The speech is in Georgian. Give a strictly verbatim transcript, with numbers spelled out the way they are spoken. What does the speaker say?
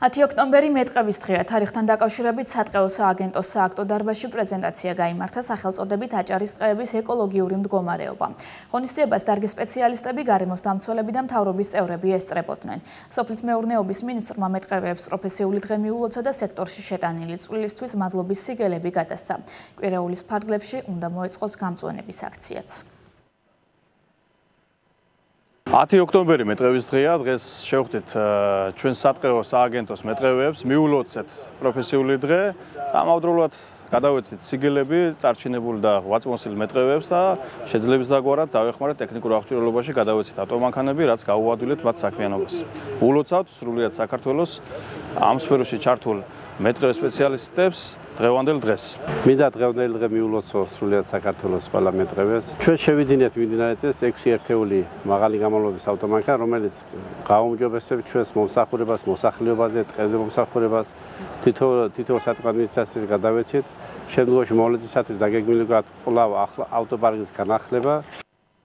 ათი ოქტომბერი მეტყევის დღეა. თარიღთან დაკავშირებით სატყეო სააგენტოს სააქტო დარბაზში პრეზენტაცია გაიმართა სახელწოდებით აჭარის ტყეების ეკოლოგიური მდგომარეობა. ღონისძიებას დარგის სპეციალისტები, გარემოს დამცველები და მთავრობის წევრები ესწრებოდნენ. სოფლის მეურნეობის მინისტრმა მეტყევეებს პროფესიული დღე მიულოცა და სექტორში შეტანილი წვლილისთვის მადლობის სიგელები გადასცა. კვირეულის ფარგლებში უნდა მოეწყოს გამწვანების აქციაც. ათი ოქტომბერი მეტყევის დღეა. დღეს შევხვდით ჩვენ სატყეო სააგენტოს მეტყევეებს, მიულოცეთ პროფესიული დღე. ამავდროულად გადავეცით სიგელები წარჩინებულ და ღვაწლმოსილ მეტყევეებს და შეძლებს დაგვარად დავეხმარეთ ტექნიკურ აღჭურვილობაში, გადავეცით ავტომანქანები, რაც გაუადვილეთ მათ საქმიანობას. ულოცავთ სრულიად საქართველოს ამ სფეროში ჩართულ მეტყევე სპეციალისტებს დღევანდელ დღეს. მინდა დღევანდელი დღე მიულოცო სრულიად საქართველოს ყველა მეტყევეს. ჩვენ შევიძინეთ მიმდინარე წელს ექვსი ერთეული მაღალი გამავლობის ავტომანქანა, რომელიც გააუმჯობესებს ჩვენს მომსახურებას, მოსახლეობაზე, ტყეზე მომსახურებას. თითო თითოეულ სატყეო ადმინისტრაციას გადავეცით. შემდგომში მოვლენისათვის დაგეგმილი გვაქვს კვლავ ავტოპარკის განახლება.